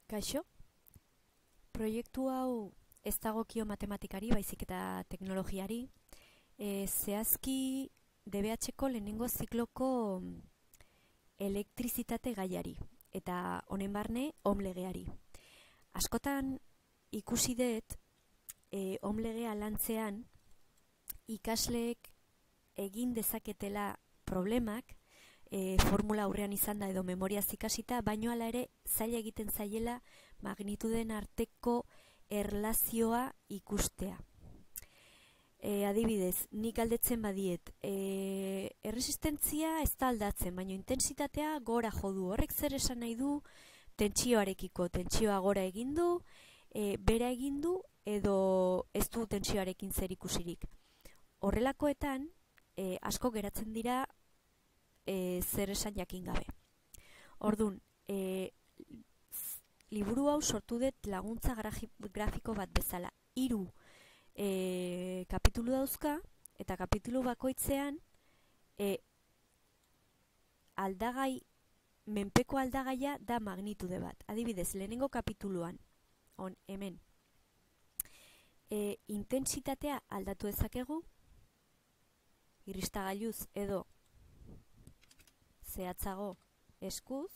Kaixo, proiektu hau ez dagokio matematikari, baizik eta teknologiari. Zehazki DBH-ko lehenengo zikloko elektrizitate gaiari, eta honen barne ohm legeari. Askotan ikusi dut ohm legea lantzean ikasleek egin dezaketela problemak, formula aurrean izan da edo memoriaz ikasita, baino hala ere zaila egiten zaiela magnituden arteko erlazioa ikustea. Adibidez, nik galdetzen badiet, erresistentzia ez da aldatzen, baino intensitatea gora jo du. Horrek zer esan nahi du tentsioarekiko? Tentsioa gora egin du, bera egin du, edo ez du tentsioarekin zer ikusirik. Horrelakoetan, asko geratzen dira zer esan jakin gabe. Orduan, liburu hau sortu dut laguntza grafiko bat bezala. 3 kapitulu dauzka, eta kapitulu bakoitzean aldagai, menpeko aldagaia da magnitude bat. Adibidez, lehenengo kapituluan, hemen, intentsitatea aldatu dezakegu, irristagailuz edo zehatzago eskuz,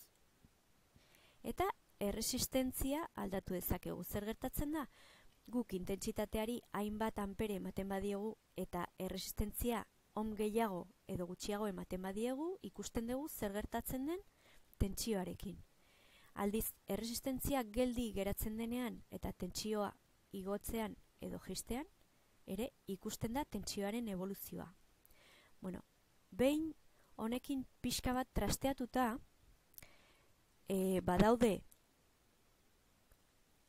eta erresistentzia aldatu dezakegu. Zer gertatzen da? Guk intentsitateari hainbat ampere ematen badiegu eta erresistentzia ohm gehiago edo gutxiago ematen badiegu, ikusten dugu zer gertatzen den tentsioarekin. Aldiz, erresistentzia geldi geratzen denean eta tentsioa igotzean edo jaistean, ere ikusten da tentsioaren evoluzioa. Bueno, behin honekin pixka bat trasteatuta, badaude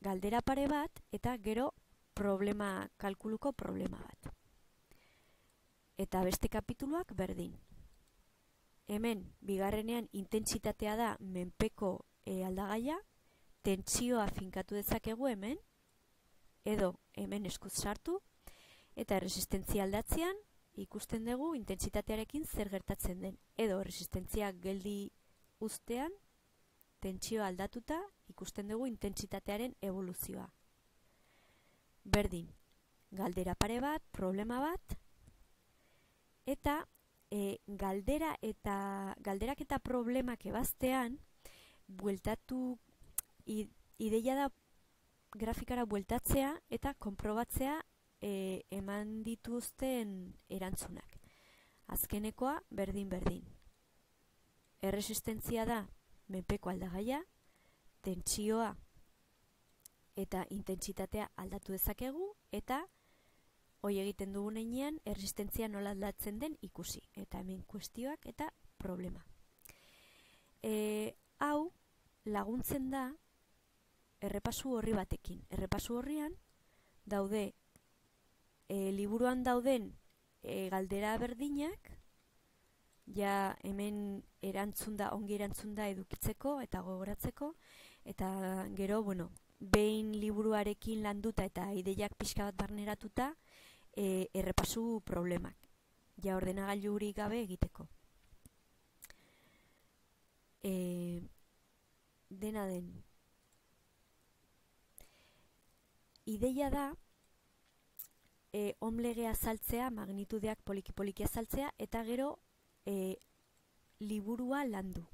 galdera pare bat eta gero kalkuluko problema bat. Eta beste kapituluak berdin. Hemen, bigarrenean intentsitatea da menpeko aldagaia, tentsioa finkatu dezakegu hemen, edo hemen eskuz sartu, eta erresistentzia aldatzean, ikusten dugu intentsitatearekin zer gertatzen den, edo resistentzia geldi uztean, tentsioa aldatuta, ikusten dugu intentsitatearen evoluzioa. Berdin, galdera pare bat, problema bat, eta galderak eta problemak ebaztean, bueltatu, ideia da grafikara bueltatzea eta konprobatzea eman dituzten erantzunak. Azkenekoa berdin-berdin. Erresistentzia da menpeko aldagaia, tentsioa eta intentsitatea aldatu dezakegu, eta hoi egiten dugun heinean erresistentzia nola aldatzen den ikusi. Eta hemen kuestioak eta problema. Hau laguntzen da errepasu horri batekin. Errepasu horrian daude liburuan dauden galdera berdinak, ja hemen ongi erantzunda edukitzeko eta gogoratzeko, eta gero, behin liburuarekin landuta eta ideiak pixka bat barneratuta, errepasu problemak, ja ordenagailurik gabe egiteko. Dena den. Ideia da, ohm legea azaltzea, magnitudeak poliki-poliki azaltzea, eta gero liburua landu.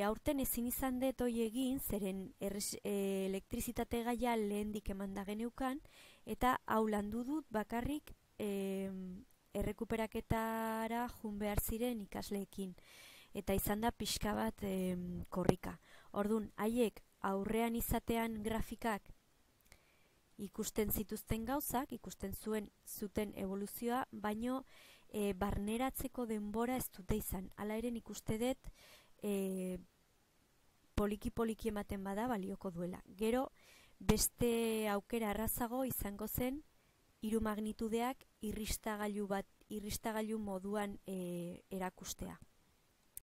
Aurten ezin izan dut hoi egin, zeren elektrizitate gaia lehendik emanda geneukan, eta hau landu dut bakarrik errekuperaketara jun behar ziren ikasleekin. Eta izan da pixka bat korrika. Orduan, haiek aurrean izatean grafikak ikusten zituzten gauzak, ikusten zuten evoluzioa, baino barneratzeko denbora ez dute izan. Hala ere ikuste dut poliki-poliki ematen bada balioko duela. Gero, beste aukera arrazago izango zen 3 magnitudeak irristagailu moduan erakustea.